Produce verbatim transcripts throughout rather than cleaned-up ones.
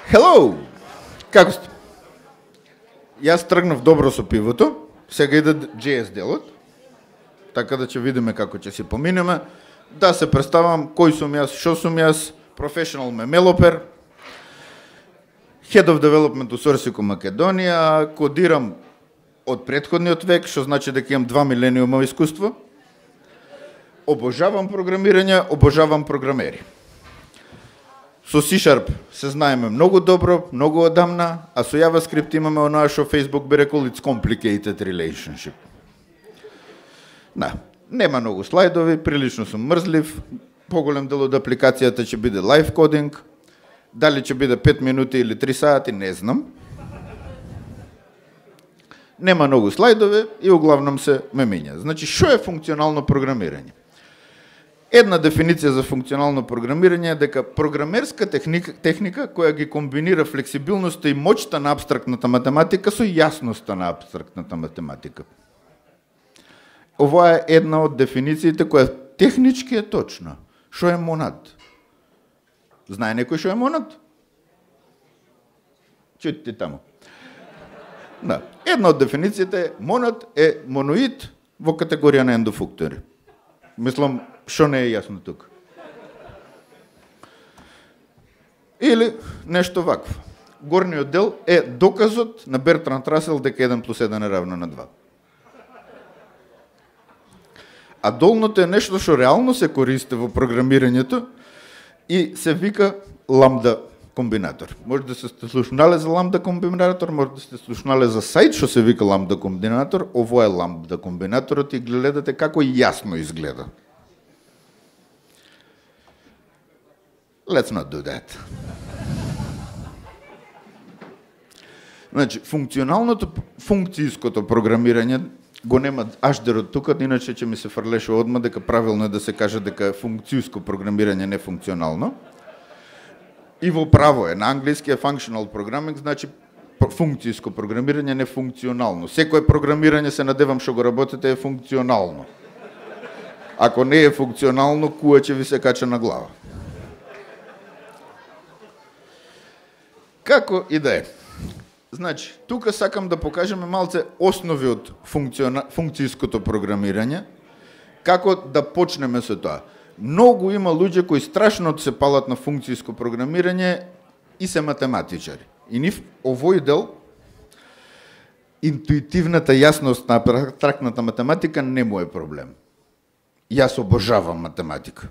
Hello! Како сте? Јас тргнав добро со пивото, сега иде джей ес делот, така да ќе видиме како ќе си поминеме. Да се представам кој сум јас, шо сум јас, professional мемелопер, Head of Development у Сорсико Македонија, кодирам од претходниот век, што значи дека имам два милениума искуство. Обожавам програмирање, обожавам програмери. Со C-Sharp се знаеме многу добро, многу одамна, а со JavaScript имаме оноа што Facebook би рекол it's complicated relationship. Да, нема многу слайдови, прилично сум мрзлив, поголем дел од апликацијата ќе биде live coding, дали ќе биде пет минути или три сати, не знам. Нема многу слайдови и углавном се ме миња. Значи, што е функционално програмирање? Една дефиниција за функционално програмирање е дека програмерска техника, техника која ги комбинира флексибилноста и моќта на апстрактната математика со јасноста на апстрактната математика. Ова е една од дефинициите која технички е точна. Што е монад? Знае некој што е монад? Чујте таму. Да. Една од дефинициите е монад е моноид во категорија на ендофуктори. Мислам, што не е јасно тук. Или нешто вакво. Горниот дел е доказот на Бертранд Расел дека еден плюс еден е равно на два. А долното е нешто што реално се користи во програмирањето и се вика ламда комбинатор. Може да се сте слушнале за ламда комбинатор, може да сте слушнале за сајт што се вика ламда комбинатор, ово е ламда комбинаторот и гледате како јасно изгледа. Let's not do that. Значи, функционалното, функцијското програмирање го нема аждерот тука, иначе ќе ми се фрлеше одма дека правилно е да се каже дека е функцијско програмирање, не функционално. И во право е, на англиски е functional programming, значи функцијско програмирање, не функционално. Секое програмирање се надевам што го работите е функционално. Ако не е функционално, куа ќе ви се кача на глава. Како и да е. Значи, тука сакам да покажеме малце основи од функциона... функцијското програмирање, како да почнеме со тоа. Многу има луѓе кои страшно се палат на функцијско програмирање и се математичари. И нив овој дел, интуитивната јасност на абстрактната математика не му е проблем. Јас обожавам математика.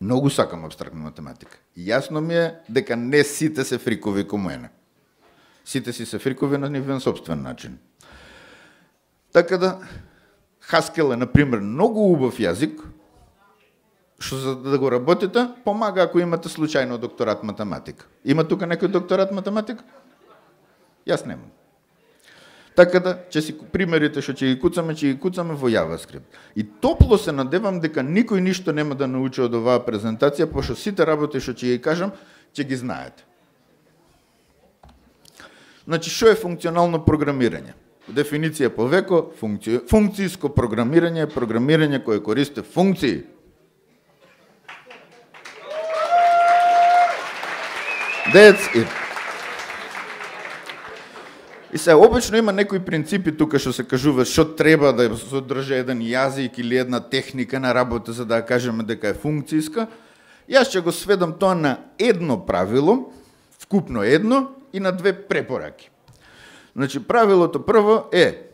Многу сакам абстрактна математика. Јасно ми е дека не сите се фрикови ко мене. Сите си се фрикови на нивен собствен начин. Така да, Haskell е, например, многу убав јазик, што за да го работите, помага ако имате случајно докторат математика. Има тука некој докторат математика? Јас немам. Така да, ќе си примерите што ќе ги куцаме, ќе ги куцаме во JavaScript. И топло се надевам дека никој ништо нема да научи од оваа презентација, пошто сите работи што ќе ги кажам, ќе ги знаете. Значи, што е функционално програмирање? Дефиниција по веко, функци... функцијско програмирање е програмирање кое користи функции. That's it. И се, обично има некои принципи тука што се кажува што треба да содржи еден јазик или една техника на работа за да кажеме дека е функцијска. Јас ќе го сведам тоа на едно правило, вкупно едно, и на две препораки. Значи, правилото прво е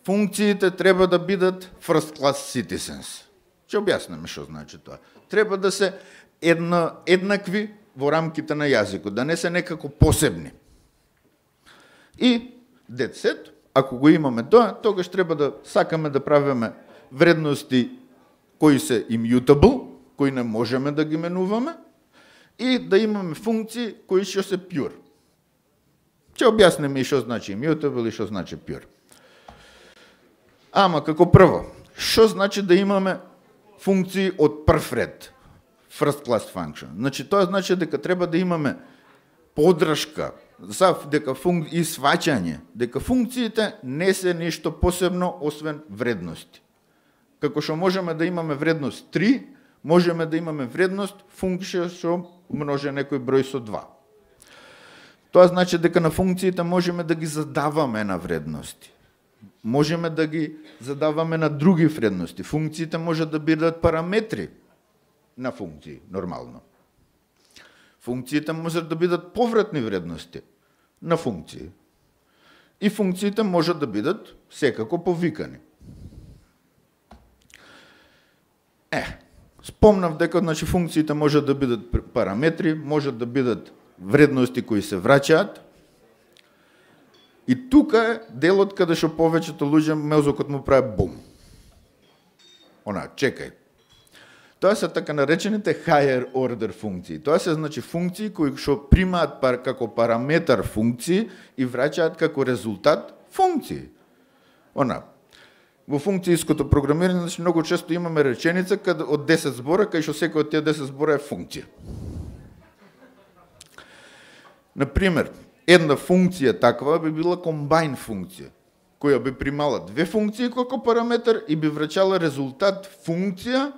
функциите треба да бидат first class citizens. Ќе објасниме што значи тоа. Треба да се едно, еднакви во рамките на јазикот, да не се некако посебни. И that's it, ако го имаме тоа, тогаш треба да сакаме да правиме вредности кои се immutable, кои не можеме да ги менуваме, и да имаме функции кои што се pure. Ќе објасниме и што значи immutable и што значи pure. Ама како прво, што значи да имаме функции од прв ред, first class function? Значи тоа значи дека треба да имаме подршка за дека функ... и сваќање дека функциите не се ништо посебно освен вредности. Како што можеме да имаме вредност три, можеме да имаме вредност функција што множе некој број со два. Тоа значи дека на функциите можеме да ги задаваме на вредности. Можеме да ги задаваме на други вредности. Функциите можат да бидат параметри на функции, нормално. Функциите можат да бидат повратни вредности на функции. И функциите можат да бидат секако повикани. Е, спомнав дека значи, функциите можат да бидат параметри, можат да бидат вредности кои се враќаат. И тука е делот каде што повеќето луѓе мозокот му прави бум. Она, чекај. Тоа се така наречените higher order функции. Тоа се значи функции кои што примаат пар, како параметар функции и враќаат како резултат функции. Она, во функцијското програмирање значи многу често имаме реченица каде од десет збора, кај што секој од тие десет збора е функција. Например, една функција таква би била комбайн функција, која би примала две функции како параметар и би враќала резултат функција,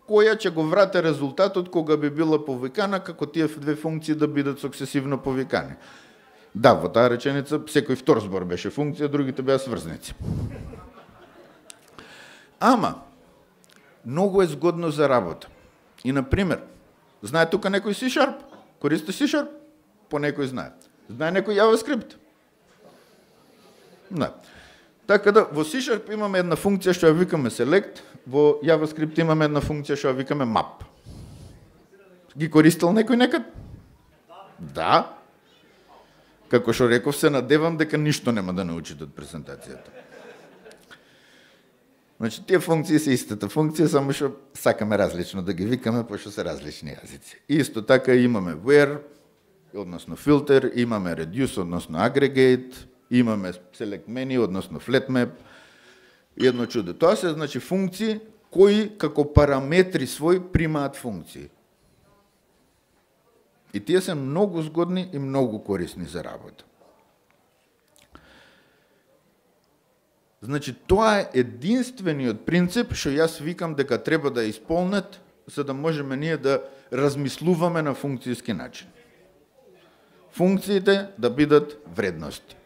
која ќе го врате резултатот кога би била повикана, како тие две функции да бидат суксесивно повикани. Да, во таа реченица секој втор збор беше функција, другите беа сврзници. Ама, многу е згодно за работа. И, например, знае тука некој C-Sharp? Користи C-Sharp? По некој знае. Знае некој JavaScript? Да. Така да, во C-Sharp имаме една функција што ја викаме select, во JavaScript имаме една функција што ја викаме map. Ги користил некој некад? Да. Како што реков, се надевам дека ништо нема да научите од презентацијата. Значи, тие функции се истата функција, само што сакаме различно да ги викаме, пошто се различни јазици. Исто така имаме where, односно filter, имаме reduce, односно aggregate, имаме select menu, односно flat map, и едно чудо. Тоа се значи функции кои како параметри свој примаат функции. И тие се многу згодни и многу корисни за работа. Значи, тоа е единствениот принцип што јас викам дека треба да исполнет, за да можеме ние да размислуваме на функцијски начин. Функциите да бидат вредности.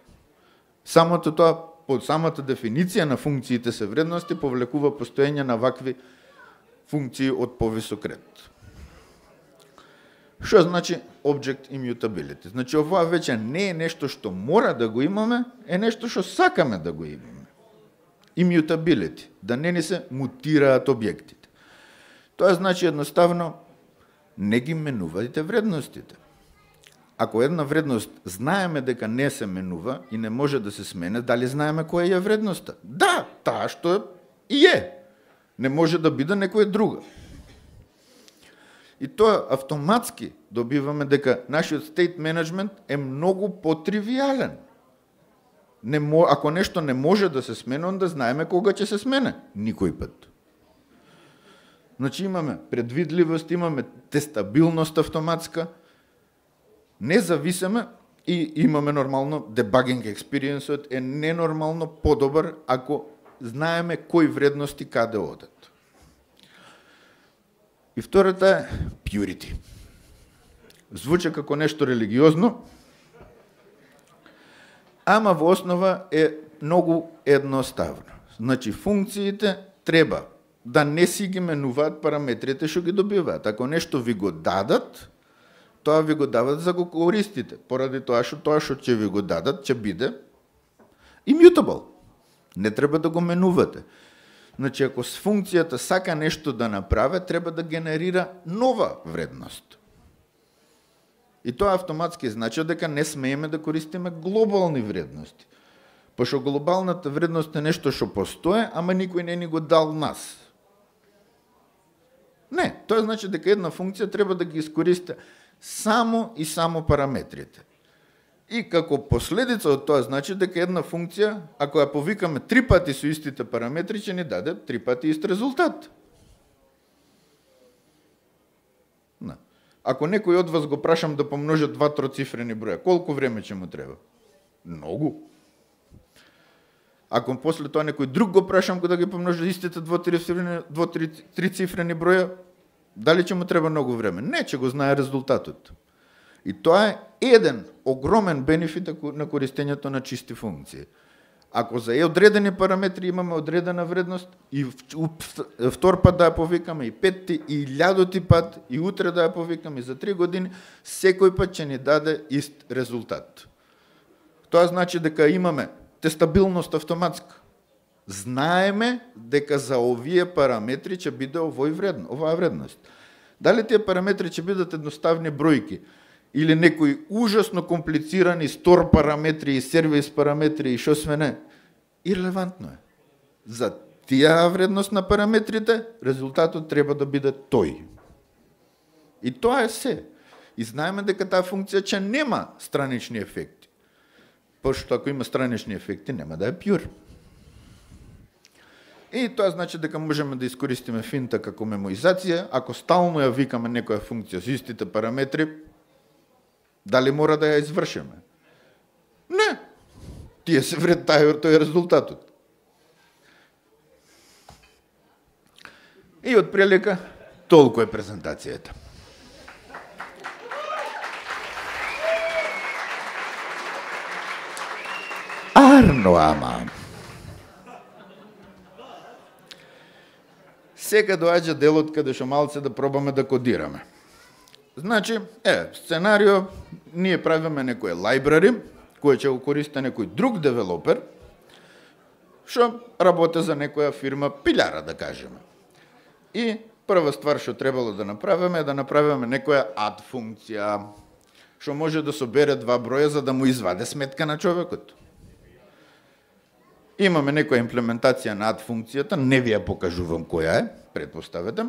Самото тоа, под самата дефиниција на функциите се вредности, повлекува постоење на вакви функции од повисок ред. Што значи object immutability? Значи, ова веќе не е нешто што мора да го имаме, е нешто што сакаме да го имаме. Immutability, да не ни се мутираат објектите. Тоа значи едноставно не ги менувајте вредностите. Ако една вредност знаеме дека не се менува и не може да се смене, дали знаеме која е вредноста? Да, таа што и е. Не може да биде некоја друга. И тоа автоматски добиваме дека нашиот state management е многу потривијален. Не, ако нешто не може да се смени, onda знаеме кога ќе се смене. Никој пат. Значи имаме предвидливост, имаме тестабилност автоматска, не зависиме и имаме нормално дебагинг експириенсот е ненормално подобар ако знаеме кои вредности каде одат. И втората е purity. Звучи како нешто религиозно, ама во основа е многу едноставно. Значи, функциите треба да не си ги менуваат параметрите што ги добиваат. Ако нешто ви го дадат, тоа ви го дават за го користите. Поради тоа што тоа што ќе ви го дадат, ќе биде immutable. Не треба да го менувате. Значи, ако с функцијата сака нешто да направи, треба да генерира нова вредност. И тоа автоматски значи дека не смееме да користиме глобални вредности. Пошто глобалната вредност е нешто што постои, ама никој не ни го дал нас. Не, тоа значи дека една функција треба да ги искористи само и само параметрите. И како последица од тоа значи дека една функција, ако ја повикаме три пати со истите параметри, ќе ни даде три пати ист резултат. На. Ако некој од вас го прашам да помножи два троцифрени броја, колку време ќе му треба? Многу. Ако после тоа некој друг го прашам да ги помножи истите двоцифрени броја, дали ќе му треба многу време? Не, ќе го знае резултатот. И тоа е еден огромен бенефит на користењето на чисти функции. Ако за одредени параметри имаме одредена вредност, и втор пат да ја повикаме, и петти, и илјадоти пат, и утре да ја повикаме, и за три години, секој пат ќе ни даде ист резултат. Тоа значи дека имаме тестабилност автоматска. Знаеме дека за овие параметри ќе биде овој вредно, оваа вредност. Дали тие параметри ќе бидат едноставни бројки или некои ужасно комплицирани стор параметри и сервис параметри и шо све не, ирелевантно е. За тие вредност на параметрите, резултатот треба да биде тој. И тоа е се. И знаеме дека таа функција ќе нема странични ефекти. Пошто ако има странични ефекти, нема да е пјур. И тоа значи дека можеме да искористиме финта како мемоизација. Ако стално ја викаме некоја функција со истите параметри, дали мора да ја извршиме? Не. Тие се вред тај, тој е резултатот. И отприлика толку е презентацијата. Арно, ама. Сега доаѓа делот каде што малце да пробаме да кодираме. Значи, е, сценарио, ние правиме некој лайбрари, кој ќе го користи некој друг девелопер, што работи за некоја фирма пилјара, да кажеме. И прва ствар што требало да направиме е да направиме некоја add функција, што може да собере два броја за да му изваде сметка на човекот. Имаме некоја имплементација на add функцијата, не ви ја покажувам која е, предпоставете.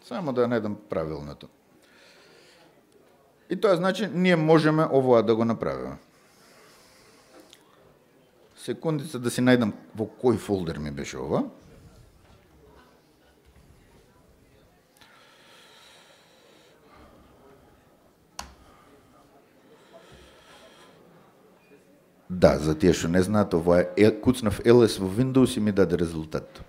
Само да ја најдам правилното. И тоа значи, ние можеме овоа да го направиме. Секундица да си најдам во кој фолдер ми беше ова. Да, за тие што не знаат, ова е куцнав ел ес во Windows и ми даде резултат.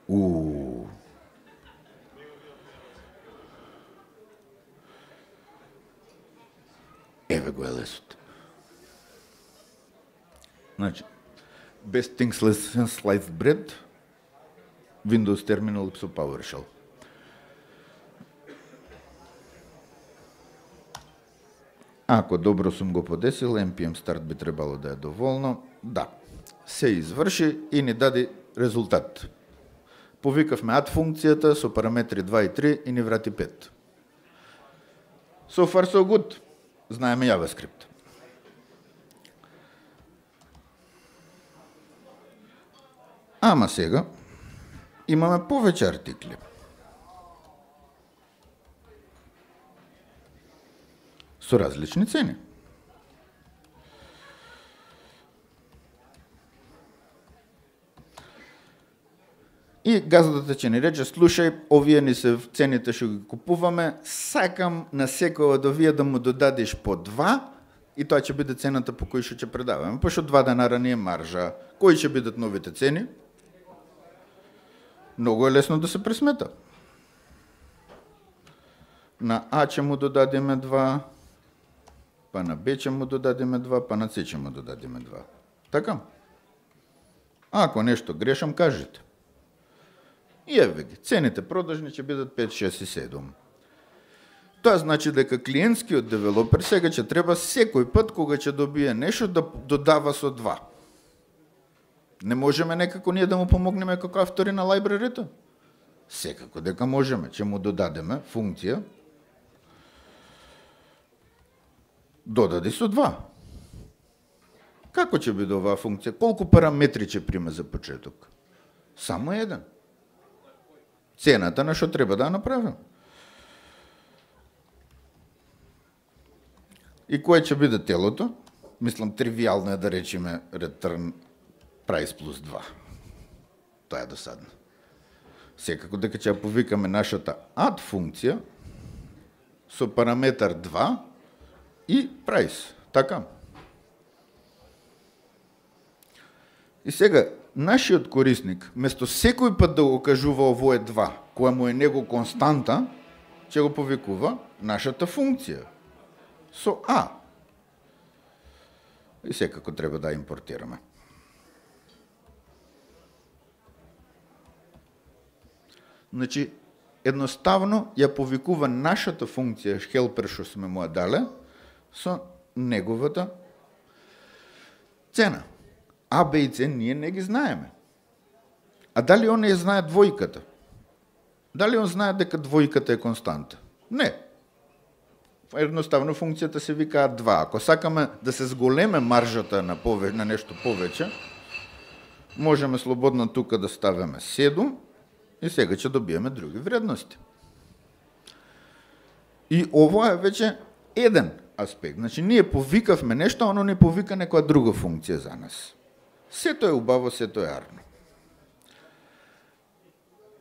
У. Еве го ел ес-от. Значи, best things since sliced bread, Windows Terminal со PowerShell. Ако добро сум го подесил, ен пи ем start би требало да е доволно. Да, се изврши и ни даде резултат. Повикавме add функцијата со параметри два и три и ни врати пет. So far so good. Знаеме JavaScript. Ама сега имаме повеќе артикли. Со различни цени. И газдата ќе ни рече, слушај, овие ни се цените што ги купуваме, сакам на секој од овие да му додадеш по два, и тоа ќе биде цената по кој што ќе предаваме. Пошто два денара не е маржа. Кои ќе бидат новите цени? Многу е лесно да се пресмета. На А ќе му додадеме два, па на Б ќе му додадеме два, па на С ќе му додадеме два. Така? Ако нешто грешам, кажете. И еве ги, цените продажни ќе бидат пет, шест и седум. Тоа значи дека клиентскиот девелопер сега ќе треба секој пат кога ќе добие нешто да додава со два. Не можеме некако ние да му помогнеме како автори на лайбрарито? Секако дека можеме, ќе му додадеме функција додади со два. Како ќе биде оваа функција? Колку параметри ќе приме за почеток? Само еден. Цената на што треба да направим. И кое ќе биде телото? Мислам, тривијално е да речеме return price плюс два. Тоа е досадно. Секако дека ќе ја повикаме нашата add функција со параметар два и price. Така. И сега, нашиот корисник, место секој пат да го кажува овое два, која му е него константа, ќе го повикува нашата функција со А. И секако треба да импортираме. Значи, едноставно ја повикува нашата функција helper што сме му ја дале со неговата цена. А, Б и С ние не ги знаеме. А дали он ја знае двојката? Дали он знае дека двојката е константа? Не. Едноставно функцијата се вика два. Ако сакаме да се зголеме маржата на, пове, на нешто повеќе, можеме слободно тука да ставиме седум и сега ќе добиеме други вредности. И ова е веќе еден аспект. Значи, ние повикавме нешто, а оно не повика некоја друга функција за нас. Сето е убаво, сето е арно.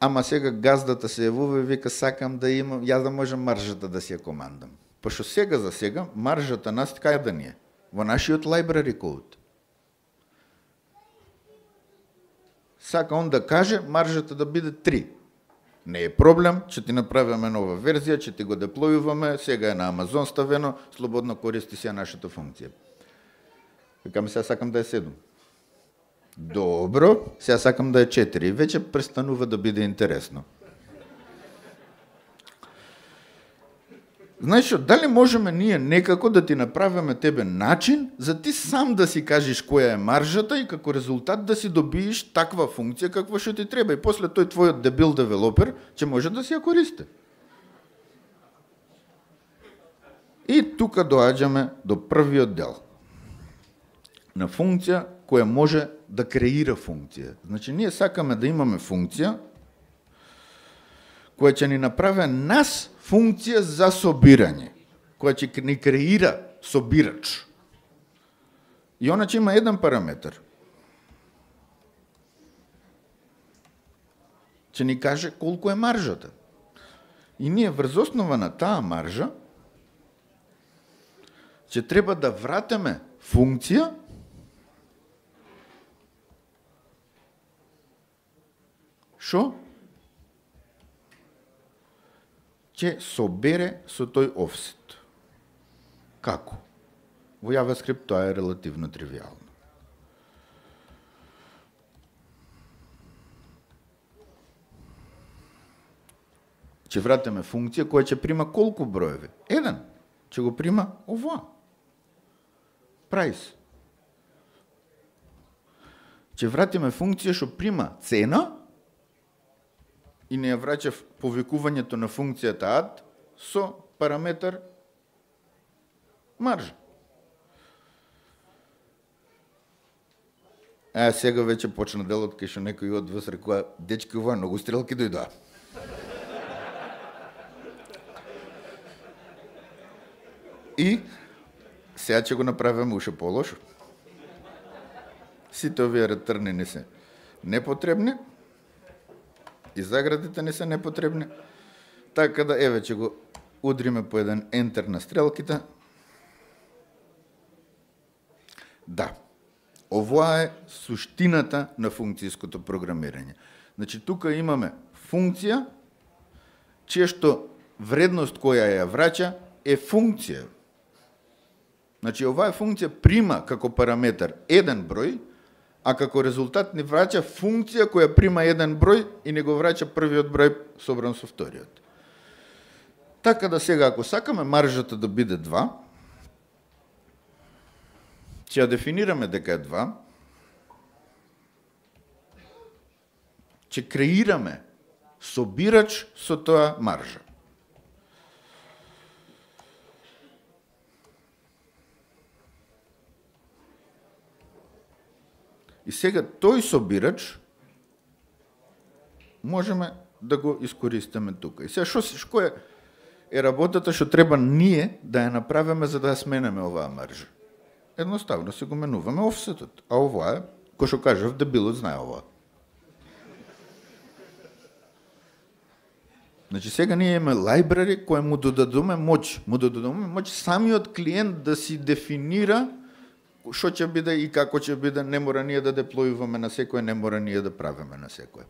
Ама сега газдата се јавува и вика, сакам да имам, ја да можам маржата да си ја командам. Пошто сега за сега, маржата нас кај да ни е? Во нашиот library code. Сака он да каже маржата да биде три. Не е проблем, ќе ти направиме нова верзија, ќе ти го деплојуваме, сега е на Амазон ставено, слободно користи си ја нашата функција. Викаме, сега сакам да е седум. Добро, сега сакам да е четири. Веќе престанува да биде интересно. Знаеш, дали можеме ние некако да ти направиме тебе начин за ти сам да си кажеш која е маржата и како резултат да си добиеш таква функција каква што ти треба и после тој твојот дебил девелопер ќе може да си ја користи. И тука доаѓаме до првиот дел на функција која може да креира функција. Значи, ние сакаме да имаме функција која ќе ни направи нас функција за собирање, која ќе ни креира собирач. И она ќе има еден параметар. Ќе ни каже колку е маржата. И ние врз основа на таа маржа ќе треба да вратиме функција што ќе собере со тој офсет. Како? Во JavaScript тоа е релативно тривијално. Ќе вратиме функција која ќе прима колку броеви? Еден. Ќе го прима ова. Price. Ќе вратиме функција што прима цена и не ја враќа повикувањето на функцијата add со параметар маржа. А сега веќе почна делот кај што некој од вас рекоа, дечки, ова многу стрелки дојдоа. И сега ќе го направиме уште полошо. Сите овие ретърни не се непотребни, и заградите не се непотребни, така да еве ќе го удриме по еден ентер на стрелките. Да, ова е суштината на функцијското програмирање. Значи, тука имаме функција, чија што вредност која ја враќа е функција. Значи, оваа функција прима како параметар еден број, а како резултат ни враќа функција која прима еден број и не го враќа првиот број собран со вториот. Така да сега, ако сакаме маржата да биде два, ќе ја дефинираме дека е два, ќе креираме собирач со тоа маржа. И сега тој собирач можеме да го искористиме тука. И сега шо, шко е, е работата што треба ние да ја направиме за да ја сменеме оваа маржа? Едноставно се го менуваме офсетот. А ова е, кој што кажав, дебилот знае ова. Значи сега ние имаме library кој му додадоме моќ, му додадоме моќ самиот клиент да си дефинира што ќе биде и како ќе биде, не мора ние да деплојуваме на секој, не мора ние да правиме на секој.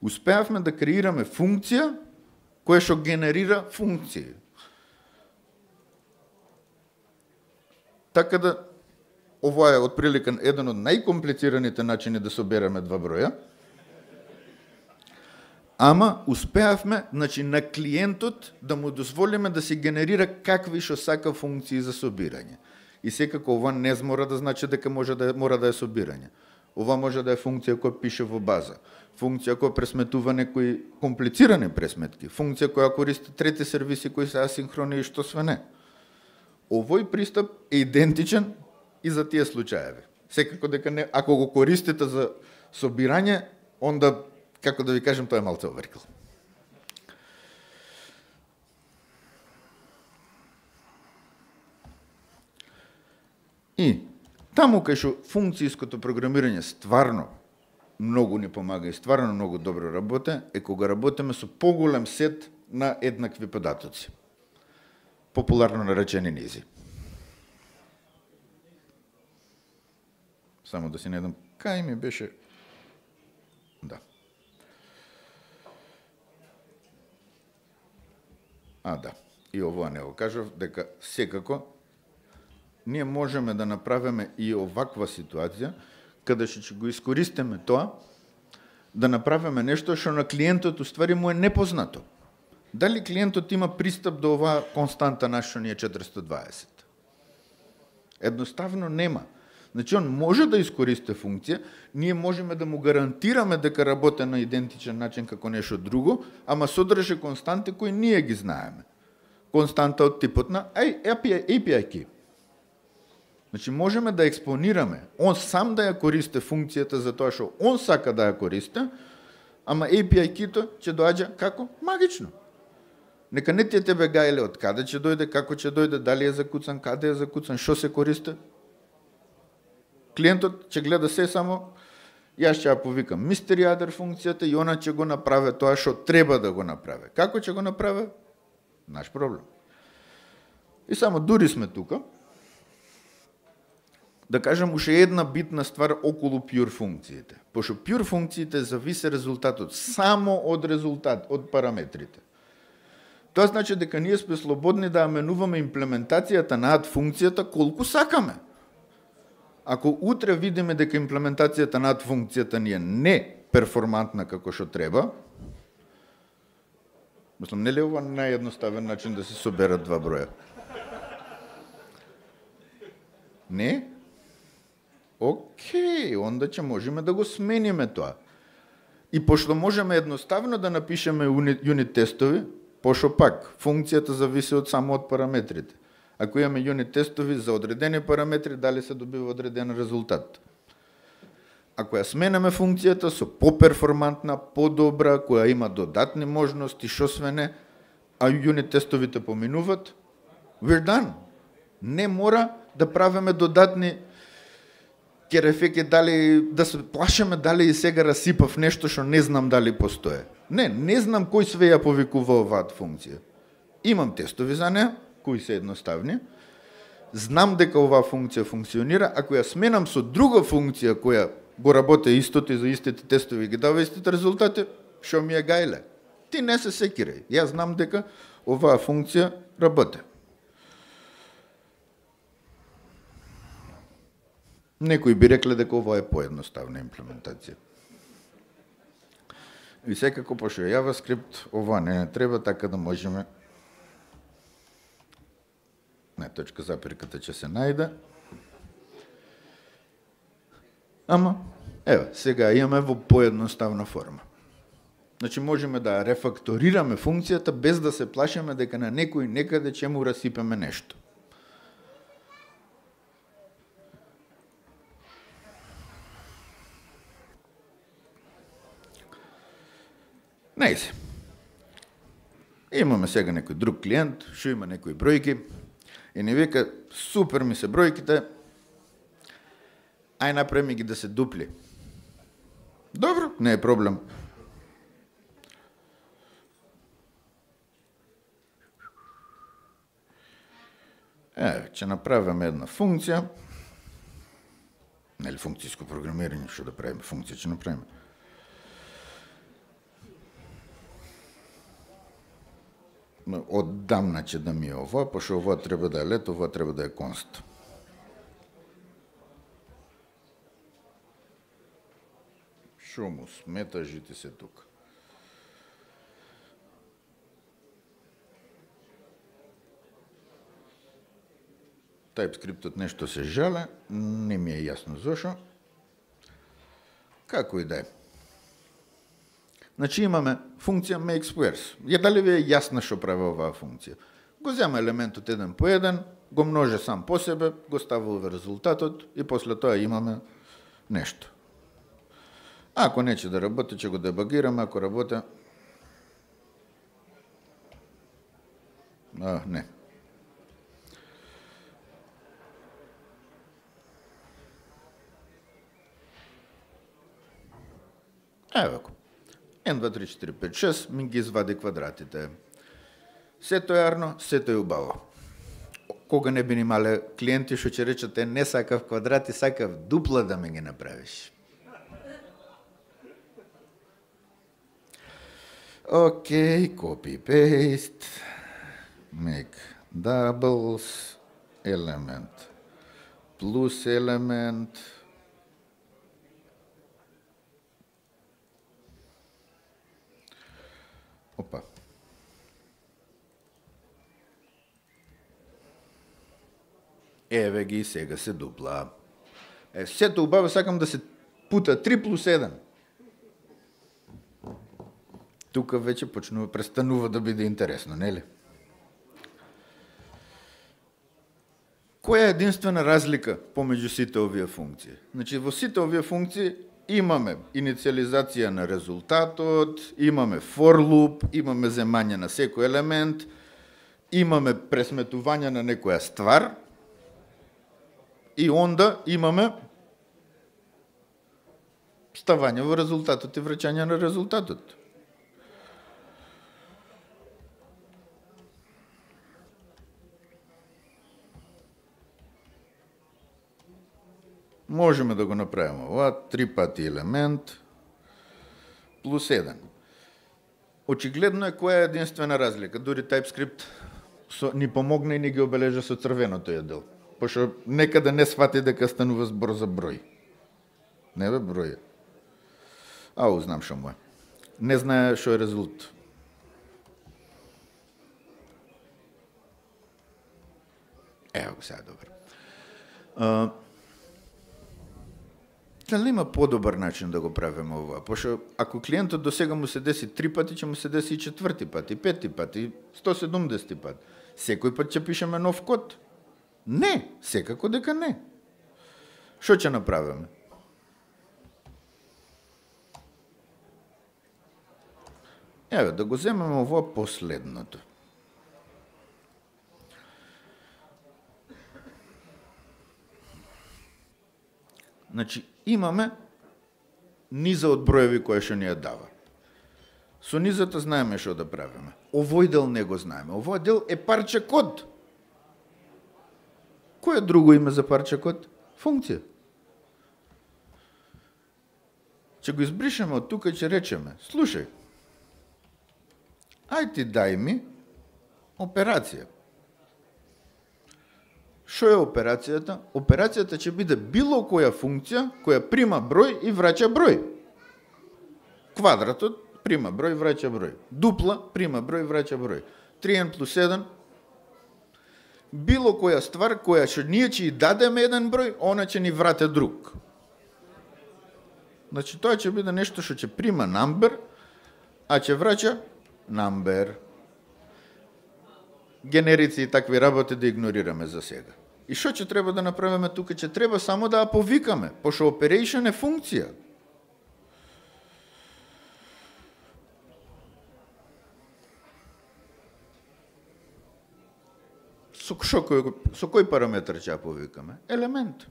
Успеавме да креираме функција која што генерира функции. Така да, ова е отприлика еден од најкомплицираните начини да собереме два броја, ама успеавме, значи, на клиентот да му дозволиме да си генерира какви што сака функции за собирање. И секако ова не мора да значи дека може да мора да е собирање. Ова може да е функција која пише во база, функција која пресметува некои комплицирани пресметки, функција која користи трети сервиси кои се асинхрони и што све не. Овој пристап е идентичен и за тие случаеви. Секако дека не, ако го користите за собирање, онда, како да ви кажем, тоа е малце оверкил. И таму кај што функцијското програмирање стварно многу ни помага и стварно многу добро работе, е кога работиме со поголем сет на еднакви податоци. Популарно наречени низи. Само да си најдам кај ми беше. Да. А, да. И ова не го кажав, дека секако ние можеме да направиме и оваква ситуација, каде што ќе го искористиме тоа, да направиме нешто што на клиентот уствари му е непознато. Дали клиентот има пристап до оваа константа на што ни е четиристотини и дваесет? Едноставно нема. Значи, он може да искористи функција, ние можеме да му гарантираме дека работи на идентичен начин како нешто друго, ама содржи константи кои ние ги знаеме. Константа од типот на ей пи ай key. Значи, можеме да експонираме, он сам да ја користи функцијата за тоа што он сака да ја користи, ама ей пи ай key-то ќе доаѓа како? Магично. Нека не ти тебе гајле од каде ќе дојде, како ќе дојде, дали е закуцан, каде е закуцан, што се користи. Клиентот ќе гледа се само, јас ќе ја повикам мистер јадер функцијата и она ќе го направи тоа што треба да го направи. Како ќе го направи? Наш проблем. И само дури сме тука, да кажем уште една битна ствар околу pure функциите. Пошто pure функциите зависи резултатот само од резултат, од параметрите. Тоа значи дека ние сме слободни да менуваме имплементацијата на add функцијата колку сакаме. Ако утре видиме дека имплементацијата на add функцијата ни е не перформантна како што треба, мислам, нели ова наједноставен начин да се соберат два броја? Не? Океј, онда ќе можеме да го смениме тоа. И пошто можеме едноставно да напишеме юнит тестови, пошто пак функцијата зависи од само од параметрите. Ако имаме юнит тестови за одредени параметри, дали се добива одреден резултат. Ако ја сменаме функцијата со поперформантна, подобра, која има додатни можности, шо све не, а юнит тестовите поминуват, we're done. Не мора да правиме додатни керефеки, дали да се плашеме дали и сега расипав нешто што не знам дали постоje. Не, не знам кој све ја повикува оваа функција. Имам тестови за неа, кои се едноставни. Знам дека оваа функција функционира, ако ја сменам со друга функција која го работи истото и за истите тестови ги дава истите резултати, што ми е гајле. Ти не се секирај. Јас знам дека оваа функција работи. Некои би рекле дека ова е поедноставна имплементација. И секако, пошто е JavaScript, ова не, не треба, така да можеме... Не, точка запирката ќе се најде. Ама, ева, сега имаме во поедноставна форма. Значи, можеме да рефакторираме функцијата без да се плашиме дека на некој некаде ќе му расипеме нешто. Најсе. Имаме сега некој друг клиент, што има некои бројки, и ни вика, супер ми се бројките, ај направи ги да се дупли. Добро, не е проблем. Е, ќе направиме една функција, нели функцијско програмирање, што да правиме, функција ќе направиме. Оддамна ќе да ми е ова, пошто ова треба да е лет, ова треба да е конст. Шо му смета, жити се тука. TypeScript-от нешто се жале, не ми е јасно зошо. Како и да е. Значи имаме функција makeSquares. Ја дали ви е јасно што прави оваа функција? Го зема елементот еден по еден, го множе сам по себе, го ставува во резултатот и после тоа имаме нешто. Ако нече да работи, ќе го дебагираме, ако работи... А, не. Ево го. еден, два, три, четири, пет, шест, ми ги извади квадратите. Сето е арно, сето е убаво. Кога не би имале клиенти што ќе речат, е, не сакав квадрати, сакав дупла да ме ги направиш. Окей, copy, paste, make doubles, element, plus element, опа. Еве ги, сега се дупла. Е, сето убаво, сакам да се пута три плюс еден. Тука веќе почнува, престанува да биде интересно, нели? Која е единствена разлика помеѓу сите овие функции? Значи, во сите овие функции имаме инициализација на резултатот, имаме for loop, имаме земање на секој елемент, имаме пресметување на некоја ствар и онда имаме ставање во резултатот и враќање на резултатот. Можеме да го направиме ова, три пати елемент, плюс еден. Очигледно е која е единствена разлика. Дури TypeScript со, ни помогна и ни ги обележа со црвеното ја дел. Пошто некаде не свати дека станува збор за број. Не бе број. Ау, знам шо му е. Не знае шо е резултат. Ево го сега добро. Uh, Дали има подобар начин да го правиме ова? Пошто ако клиентот до сега му се деси три пати, ќе му се деси и четврти пат, и пети пат, и сто и седумдесети пат. Секој пат ќе пишеме нов код? Не, секако дека не. Што ќе направиме? Еве, да го земеме ова последното. Значи, имаме низа од броеви која што ни ја дава. Со низата знаеме што да правиме. Овој дел не го знаеме. Овој дел е парче код. Кој е друго име за парче код? Функција. Ќе го избришеме од тука и ќе речеме, слушај, ај ти дај ми операција. Што е операцијата? Операцијата ќе биде било која функција која прима број и враќа број. Квадратот прима број, враќа број. Дупла прима број, враќа број. три ен плюс еден. Било која ствар која што ние ќе и дадеме еден број, она ќе ни врате друг. Значи тоа ќе биде нешто што ќе прима number, а ќе враќа number. Генерици и такви работи да игнорираме за сега. И што ќе треба да направиме тука? Ќе треба само да ја повикаме, пошто operation е функција. Со, шо, со кој параметр ќе ја повикаме? Елемент.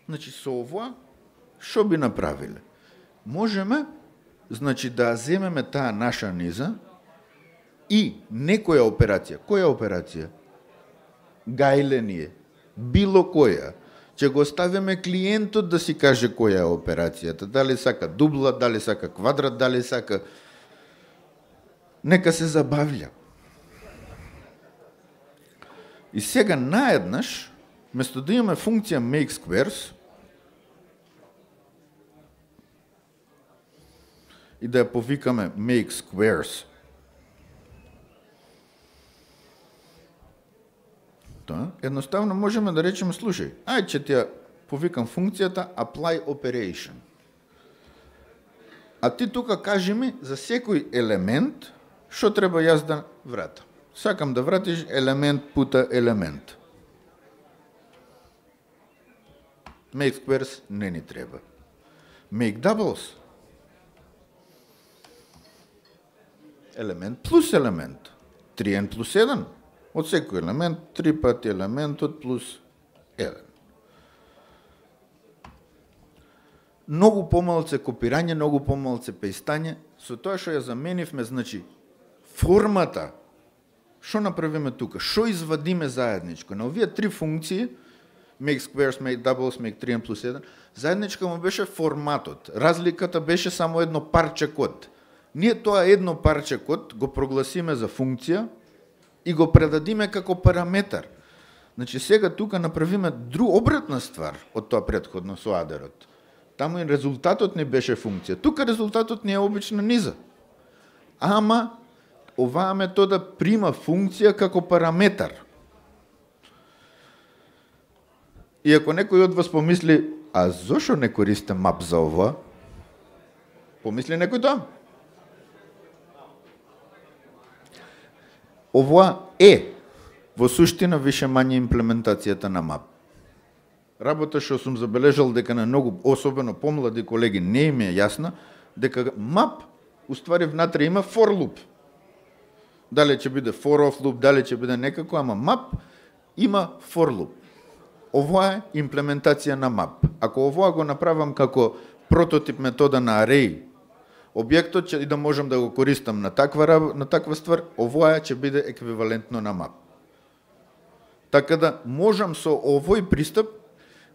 Значи, со ова, што би направиле? Можеме, значи, да земеме таа наша низа и некоја операција. Која операција? Гајление. Било која. Ќе го оставиме клиентот да си каже која е операцијата. Дали сака дубла, дали сака квадрат, дали сака... Нека се забавља. И сега наеднаш, место да имаме функција make squares, и да ја повикаме make squares, тоа, едноставно можеме да речеме, слушај, ај ќе ти ја повикам функцијата apply operation. А ти тука кажи ми за секој елемент што треба јас да вратам. Сакам да вратиш елемент пута елемент. Make squares не ни треба. Make doubles. Елемент плюс елемент. три ен плюс еден. Од секој елемент, три пати елементот плюс еден. Многу помалце копирање, многу помалце пејстање. Со тоа што ја заменивме, значи, формата, што направиме тука? Што извадиме заедничко? На овие три функции, make squares, make doubles, make три ен плюс еден, заедничко му беше форматот. Разликата беше само едно парче код. Ние тоа едно парче код го прогласиме за функција и го предадиме како параметар. Значи сега тука направиме друг обратна ствар од тоа претходно со адерот. Таму и резултатот не беше функција. Тука резултатот не е обична низа. Ама оваа метода прима функција како параметар. И ако некој од вас помисли, а зошто не користи мап за ова? Помисли некој тоа? Ова е во суштина више мање имплементацијата на мап. Работа што сум забележал дека на многу, особено помлади колеги, не им е јасна, дека мап уствари внатре има for loop. Дали ќе биде for of loop, дали ќе биде некако, ама мап има for loop. Ова е имплементација на мап. Ако ова го направам како прототип метода на array, објектот ќе и да можам да го користам на таква на таква ствар, ова ќе биде еквивалентно на мап. Така да можам со овој пристап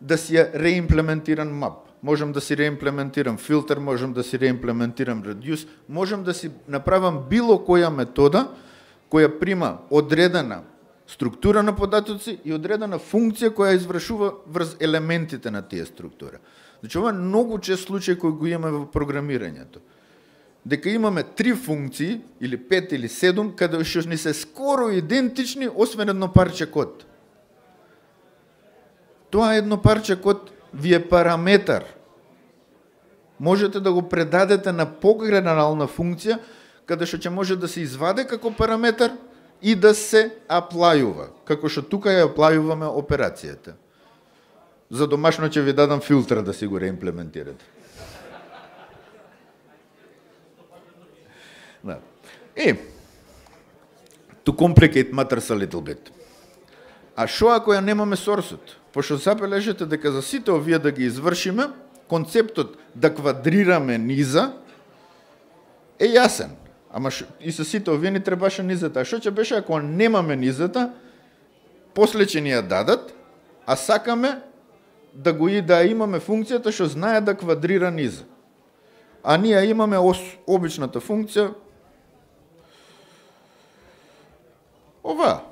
да си ја реимплементирам мап. Можам да си реимплементирам филтер, можам да си реимплементирам reduce, можам да си направам било која метода која прима одредена структура на податоци и одредена функција која извршува врз елементите на тие структура. Значи ова е многу чест случај кој го имаме во програмирањето. Дека имаме три функции, или пет или седум, каде што ни се скоро идентични, освен едно парче код. Тоа едно парче код ви е параметар. Можете да го предадете на погенерална функција, каде што ќе може да се изваде како параметар и да се аплајува, како што тука ја аплајуваме операцијата. За домашно ќе ви дадам филтер да си го реимплементирате. Да. Е, to complicate matters a little bit. А шо ако ја немаме сорсот? Пошто забележете дека за сите овие да ги извршиме, концептот да квадрираме низа е јасен. Ама шо, и со сите овие ни требаше низата. А шо ќе беше ако немаме низата, после ќе ни ја дадат, а сакаме да го и да имаме функцијата што знае да квадрира низа. А ние имаме ос, обичната функција ова.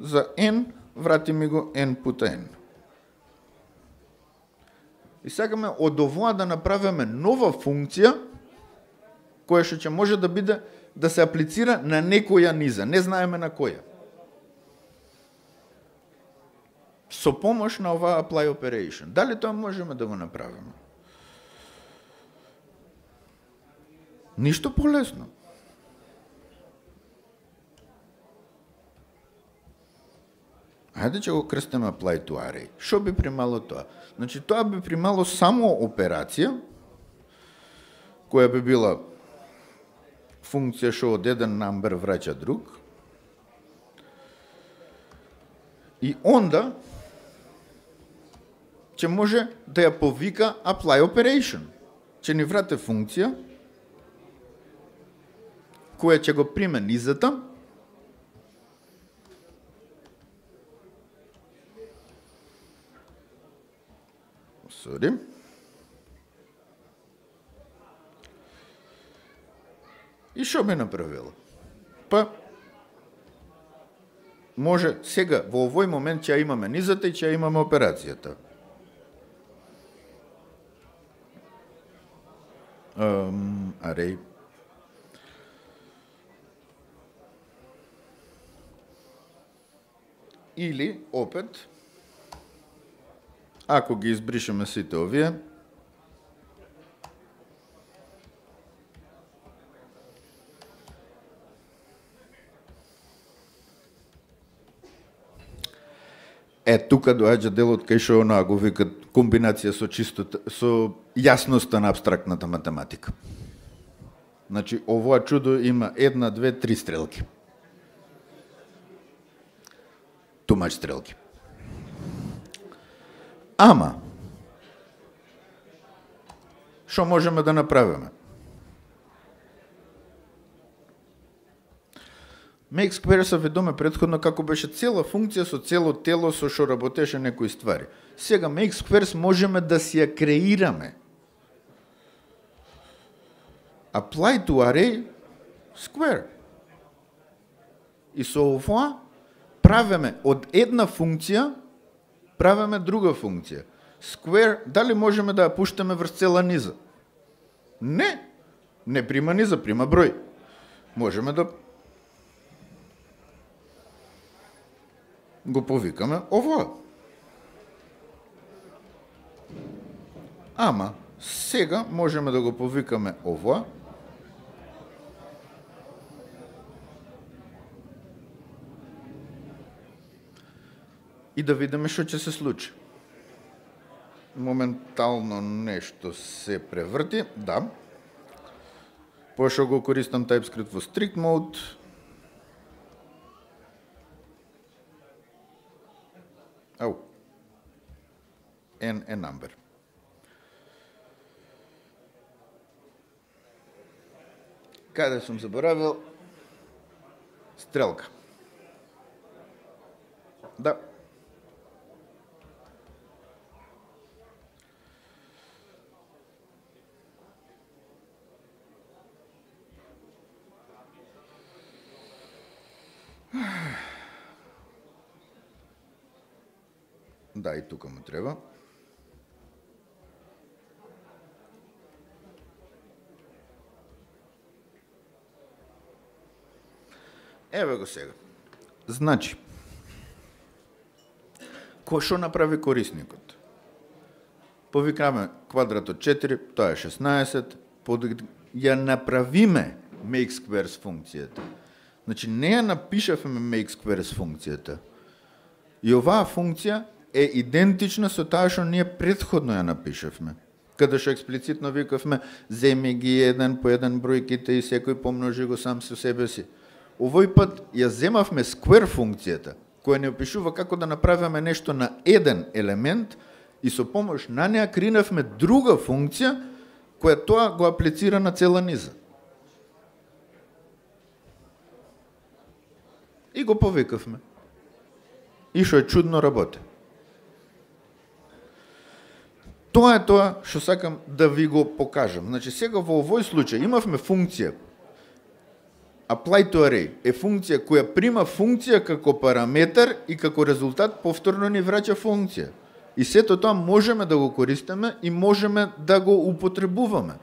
За n врати ми го n пута n. И сакаме од овоа да направиме нова функција која што ќе може да биде да се аплицира на некоја низа, не знаеме на која. Со помош на оваа apply operation. Дали тоа можеме да го направиме? Ништо полесно. Хајде ќе го крстиме apply to array. Што би примало тоа? Значи, тоа би примало само операција, која би била функција што од еден number враќа друг. И онда ќе може да ја повика apply operation. Ќе ни врате функција која ќе го приме низата Sorry. И што ме направила? Па може сега во овој момент ќе имаме низата и ќе имаме операцијата. Um, array. Или опет ако ги избришеме сите овие, е, тука доаѓа делот кај што онаа го викат комбинација со чистота, со јасноста на апстрактната математика. Значи, овоа чудо има една, две, три стрелки. Тумач стрелки. Ама, што можеме да направиме? Make square се ведоме претходно како беше цела функција со цело тело со што работеше некои ствари. Сега make squares можеме да си ја креираме. Apply to array square. И со ова правиме од една функција правиме друга функција. Square, дали можеме да ја пуштаме врз цела низа? Не. Не прима низа, прима број. Можеме да го повикаме ова. Ама, сега можеме да го повикаме ова. И да видиме што ќе се случи. Моментално нешто се преврти, да. Пошто го користам TypeScript во strict mode. Ау. N е number. Каде сум заборавил? Стрелка. Да. Да, и тука му треба. Еве го сега. Значи, кој што направи корисникот? Повикаме квадрат од четири, тоа е шеснаесет, под ја направиме make squares функцијата. Значи, не ја напишавме make squares функцијата. И оваа функција е идентична со таа што ние претходно ја напишавме. Каде што експлицитно викавме, земи ги еден по еден бројките и секој помножи го сам со себе си. Овој пат ја земавме square функцијата, која не опишува како да направиме нешто на еден елемент и со помош на неа кринавме друга функција која тоа го аплицира на цела низа. И го повикавме. И што е чудно работи. Тоа е тоа што сакам да ви го покажам. Значи сега во овој случај имавме функција apply to array е функција која прима функција како параметар и како резултат повторно ни враќа функција. И сето тоа можеме да го користиме и можеме да го употребуваме.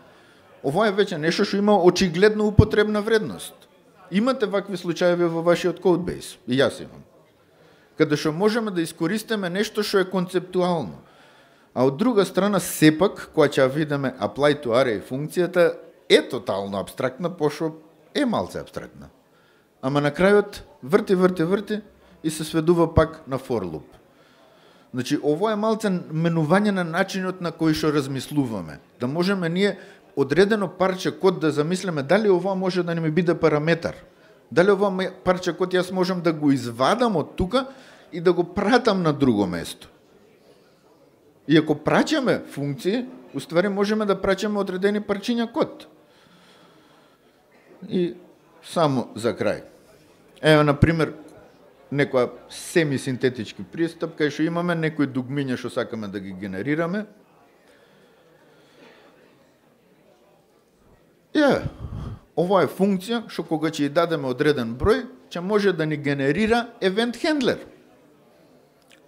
Ова е веќе нешто што има очигледно употребна вредност. Имате вакви случаеви во вашиот кодбейс, и јас имам. Каде што можеме да искористиме нешто што е концептуално. А од друга страна, сепак, која ќе видиме apply to array функцијата е тотално абстрактна, пошто е малце абстрактна. Ама на крајот врти, врти, врти и се сведува пак на for loop. Значи, ово е малце менување на начинот на кој што размислуваме. Да можеме ние одредено парче код да замислиме дали ова може да не ми биде параметар. Дали ова парче код јас можам да го извадам од тука и да го пратам на друго место. И ако праќаме функции, уствари можеме да праќаме одредени парчиња код. И само за крај. Ево, например, некоја семисинтетички пристап, кај што имаме некои дугмиња што сакаме да ги генерираме. Е, ова е функција што кога ќе ја дадеме одреден број, ќе може да ни генерира евент хендлер.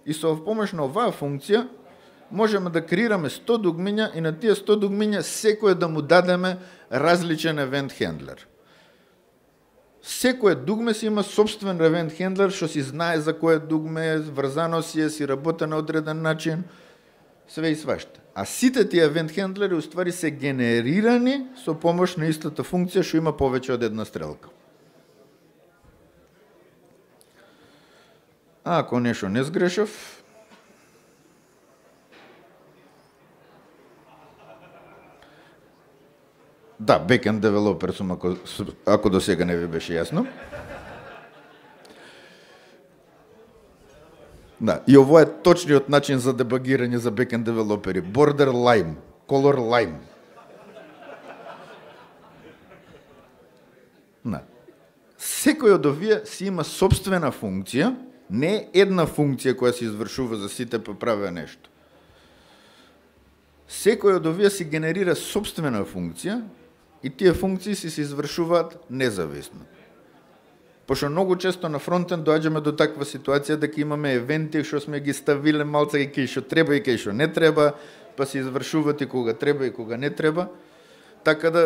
И со помош на оваа функција можеме да креираме сто дугмиња и на тие сто дугмиња секој да му дадеме различен евент хендлер. Секој дугме си има собствен евент хендлер што си знае за кое дугме е, врзано си е, си работа на одреден начин, све и свашта. А сите тие евент хендлери уствари се генерирани со помош на истата функција што има повеќе од една стрелка. А ако нешто не сгрешав, да, backend developer сум, ако, ако до сега не ви беше јасно. Да, и ово е точниот начин за дебагирање за backend девелопери. Border lime, color lime. Да. Секој од овие си има собствена функција, не е една функција која се извршува за сите па правеа нешто. Секој од овие си генерира собствена функција и тие функции си се извршуваат независно. Пошто многу често на фронтенд доаѓаме до таква ситуација дека имаме евенти што сме ги ставиле малце и кај што треба и кај што не треба, па се извршуваат и кога треба и кога не треба. Така да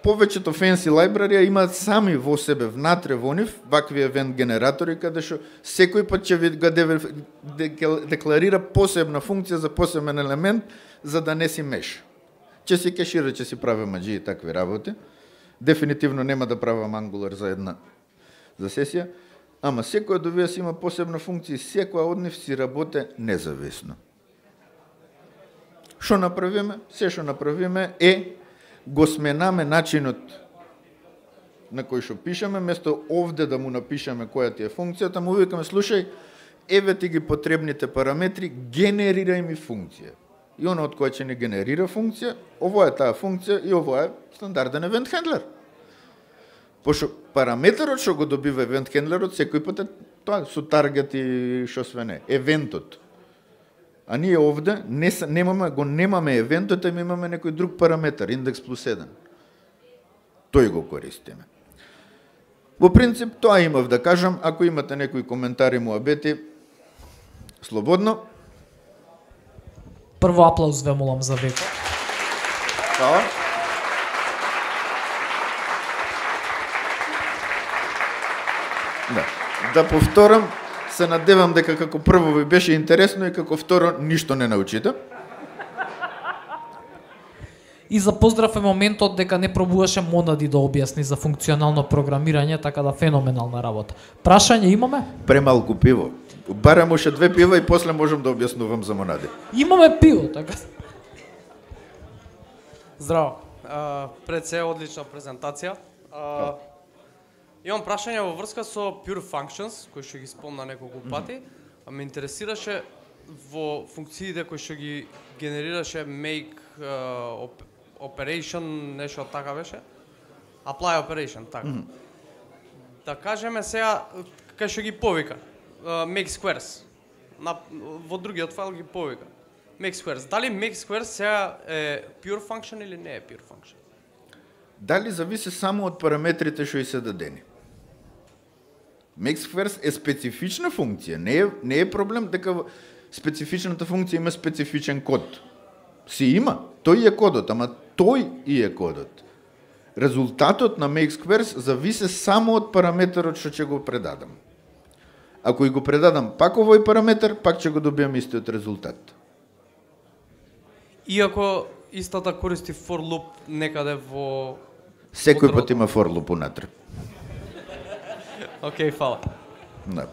повеќето fancy лайбрарија имаат сами во себе внатре во нив вакви евент генератори каде што секој пат ќе ви го декларира посебна функција за посебен елемент за да не си меша. Ќе си кешира, ќе си прави маџи и такви работи. Дефинитивно нема да правам Angular за една за сесија, ама секој од овие си има посебна функција и секоја од нив си работи независно. Што направиме? Се што направиме е го сменаме начинот на кој што пишеме, место овде да му напишеме која ти е функцијата, му викаме слушај, еве ти ги потребните параметри, генерирај ми функција. И оно од која ќе не генерира функција, ово е таа функција и ово е стандарден евент хендлер. Пошто параметерот што го добива евент хендлерот секој пат е тоа со таргет и што све не, евентот. А ние овде не немаме го немаме евентот, а имаме некој друг параметар, индекс плюс еден. Тој го користиме. Во принцип тоа имав да кажам, ако имате некои коментари, муабети, слободно. Прво аплауз ве молам за Веко. Хвала. Да. Да повторам, се надевам дека како прво ви беше интересно и како второ ништо не научите. И за поздрав е моментот дека не пробуваше Монади да објасни за функционално програмирање, така да феноменална работа. Прашање имаме? Премалку пиво. Барам уште две пива и после можам да објаснувам за Монади. Имаме пиво, така. Здраво. А, пред се одлична презентација. А, имам прашање во врска со Pure Functions, кој што ги спомна неколку пати, а ме интересираше во функциите кои што ги генерираше make uh, op operation, нешто така беше? Apply operation, така. Mm -hmm. Да кажеме сега, кај што ги повика, uh, make squares, на, во другиот файл ги повика. Make squares. Дали make squares сега е pure function или не е pure function? Дали зависи само од параметрите што и се дадени. Make squares е специфична функција, не е, не е проблем дека специфичната функција има специфичен код. Си има, тој е кодот, ама тој и е кодот. Резултатот на make squares зависи само од параметерот што ќе го предадам. Ако и го предадам пак овој параметар, пак ќе го добиам истиот резултат. Иако истата користи for loop некаде во... Секој пат има for loop унатре. Океј, okay, фала. Да.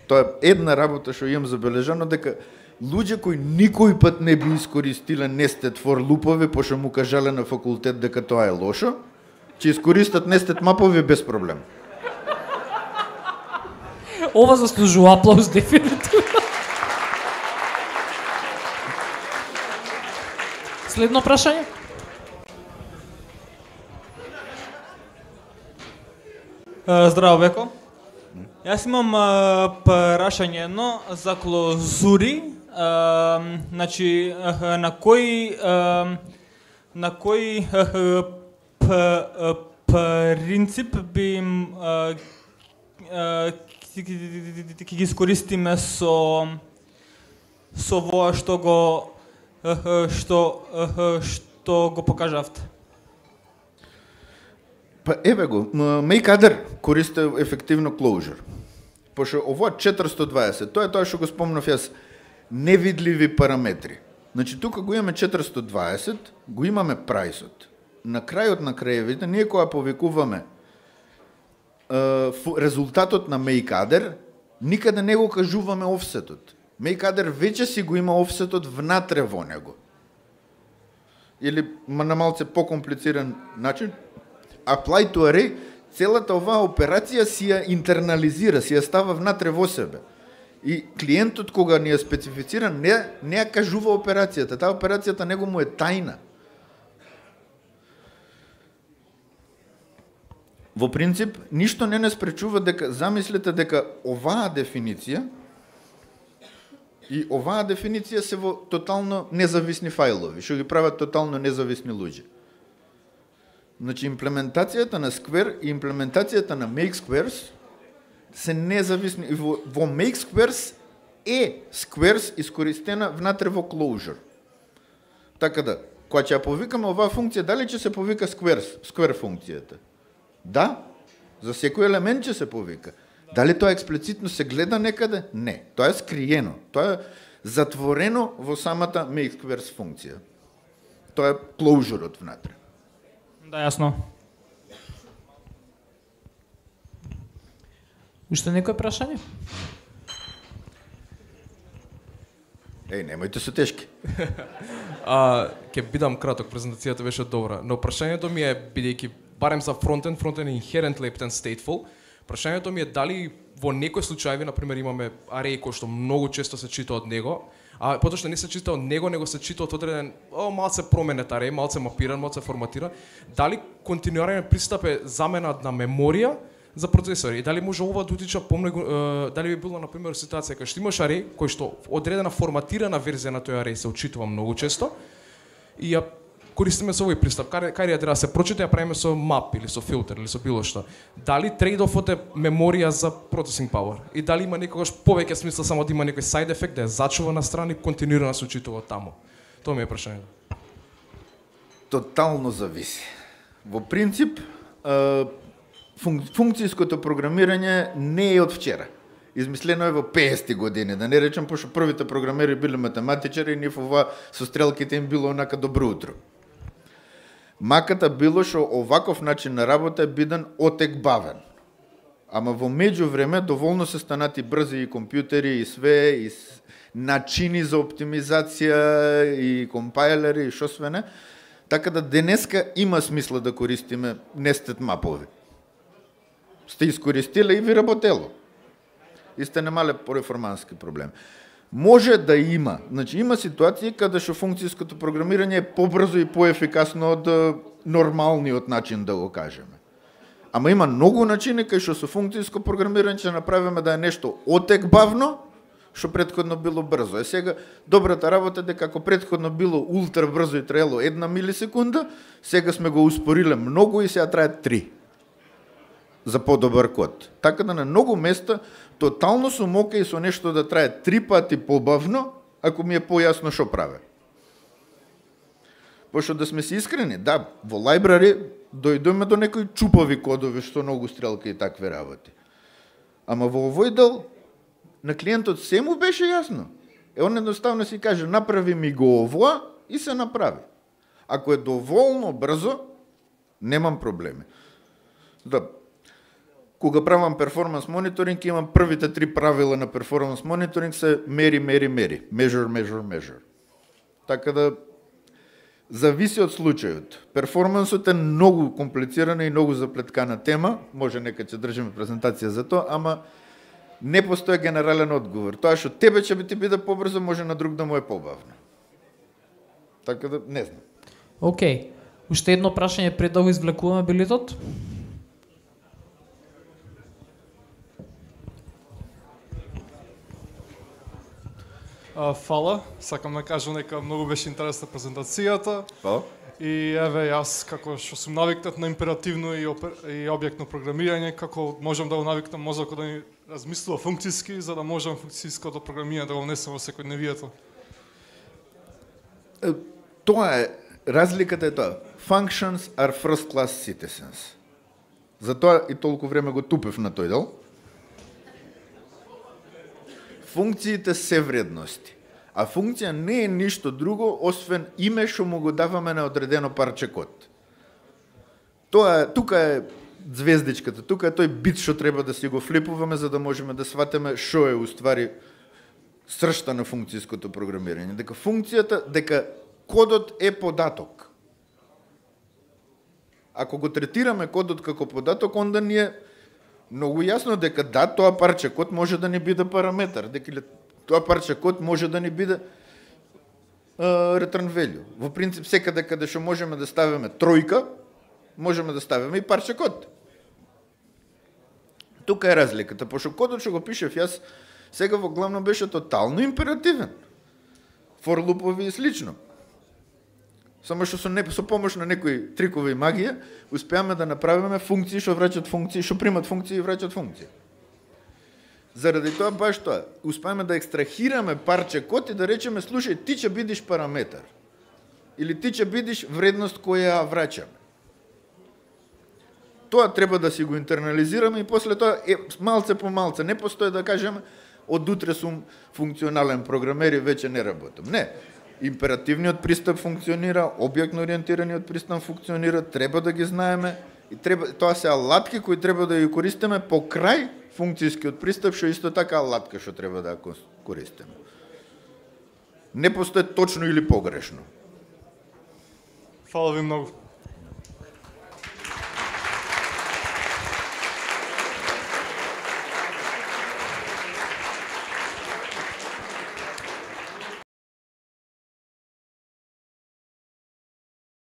Тоа е една работа што имам забележано, дека луѓе кои никој пат не би искористиле нестет for лупови, пошто му кажале на факултет дека тоа е лошо, ќе искористат нестет мапови без проблем. Ова заслужува аплауз дефинитивно. Следно прашање? Здраво, Веко. Јас имам а, прашање едно за клозури. А, значи, а, на кој а, на кој а, п, а, принцип би им а, а, ќе ги искористиме со со во што го а, што а, што го покажавте? Па еве го, Make користи ефективно closure. Пошто ово четиристо дваесет, тоа е тоа што го спомнав јас, невидливи параметри. Значи тука го имаме четиристо дваесет, го имаме прајсот. На крајот на краевите, ние кога повикуваме е, резултатот на Make никаде не го кажуваме офсетот. Make веќе си го има офсетот внатре во него. Или на малце покомплициран начин, apply to array, целата оваа операција си ја интернализира, си ја става внатре во себе. И клиентот кога ни ја специфицира, не, не ја кажува операцијата, таа операцијата него му е тајна. Во принцип, ништо не не спречува дека, замислете дека оваа дефиниција и оваа дефиниција се во тотално независни фајлови, што ги прават тотално независни луѓе. Значи, имплементацијата на Square и имплементацијата на MakeSquares се независни. Во, во MakeSquares е Squares искористена внатре во Closure. Така да, кога ќе ја повикаме оваа функција, дали ќе се повика Squares, Square функцијата? Да, за секој елемент ќе се повика. Дали тоа експлицитно се гледа некаде? Не, тоа е скриено. Тоа е затворено во самата MakeSquares функција. Тоа е Closure-от внатре. Да, јасно. Уште некој прашање? Еј, немојте се тешки. А, ќе бидам краток, презентацијата беше добра, но прашањето ми е, бидејќи барем за фронтенд, фронтенд е inherently and stateful, прашањето ми е дали во некои случаи, например, имаме арей кој што многу често се чита од него, а потоа што не се чита од него, него се чита од одреден, о, малце променет арей, малце мапиран, малце форматиран, дали континуиран пристап е замена на меморија за процесори? И дали може ова да утича помногу, дали би било, например, ситуација кај што имаш арей, кој што одредена форматирана верзија на тој арей се учитува многу често, и ја користиме со овој пристап, кај кај треба да се прочита, ја правиме со map или со филтер или со било што. Дали трейд-офот е меморија за processing power? И дали има некогаш повеќе смисла само да има некој side effect, да ја зачува на страни, континуирано се учитува таму? Тоа ми е прашањето. Тотално зависи. Во принцип, функцијското програмирање не е од вчера. Измислено е во петдесетти години, да не речам, пошто првите програмери биле математичари и нив ова со стрелките им било онака добро утро. Маката било што оваков начин на работа е биден отекбавен. Ама во меѓувреме доволно се станати брзи и компјутери и све, и начини за оптимизација и компајлери и шо све не. Така да денеска има смисла да користиме nested мапови. Сте искористиле и ви работело. И сте немале перформански проблем. Може да има, значи има ситуации каде што функцијското програмирање е побрзо и поефикасно од нормалниот начин, да го кажеме. Ама има многу начини кај што со функцијско програмирање ќе направиме да е нешто отекбавно, што претходно било брзо. Е сега добрата работа е дека ако претходно било ултра брзо и траело една милисекунда, сега сме го успориле многу и сега трае три за подобар код. Така да на многу места тотално сум окей со нешто да трае три пати побавно, ако ми е појасно што праве. Пошто да сме си искрени, да, во лайбрари дојдоме до некои чупави кодови што многу стрелки и такви работи. Ама во овој дел на клиентот се му беше јасно. Е, он едноставно си каже, направи ми го овоа и се направи. Ако е доволно брзо, немам проблеми. Да, кога правам перформанс мониторинг, имам првите три правила на перформанс мониторинг се мери, мери, мери. Measure, measure, measure. Така да, зависи од случајот. Перформансот е многу комплицирана и многу заплеткана тема, може нека ќе држиме презентација за тоа, ама не постои генерален одговор. Тоа што тебе ќе би ти биде побрзо, може на друг да му е побавно. Така да, не знам. Океј. Уште едно прашање пред да го извлекуваме билетот. А, фала, сакам да кажам дека многу беше интересна презентацијата. Па? И еве јас како што сум навикнат на императивно и, опер... и објектно програмирање, како можам да го навикнам мозокот да ни размислува функциски, за да можам функцијското програмирање да го внесам во секојдневието. Тоа е, разликата е тоа. Functions are first class citizens. Затоа и толку време го тупев на тој дел. Функциите се вредности. А функција не е ништо друго, освен име што му го даваме на одредено парче код. Тоа е, тука е звездичката, тука е тој бит што треба да си го флипуваме за да можеме да сватиме што е уствари сршта на функцијското програмирање. Дека функцијата, дека кодот е податок. Ако го третираме кодот како податок, онда ни е многу јасно дека да, тоа парче код може да не биде параметар, дека тоа парче код може да не биде uh, return value. Во принцип, секаде каде што можеме да ставиме тројка, можеме да ставиме и парче код. Тука е разликата, пошто кодот што го пишев јас, сега во главно беше тотално императивен. For лупови и слично. Само што со, не, со помош на некои трикови и магија, успеаме да направиме функции што враќаат функции, што примат функции и враќаат функции. Заради тоа баш тоа, успеаме да екстрахираме парче код и да речеме, слушај, ти ќе бидиш параметар. Или ти ќе бидиш вредност која ја враќаме. Тоа треба да си го интернализираме и после тоа е, малце по малце, не постои да кажеме од утре сум функционален програмер и веќе не работам. Не. Императивниот пристап функционира, објектно ориентираниот пристап функционира, треба да ги знаеме и треба, тоа се алатки кои треба да ги користиме покрај функцијскиот пристап, што исто така алатка што треба да ја користиме. Не постои точно или погрешно. Фала ви многу.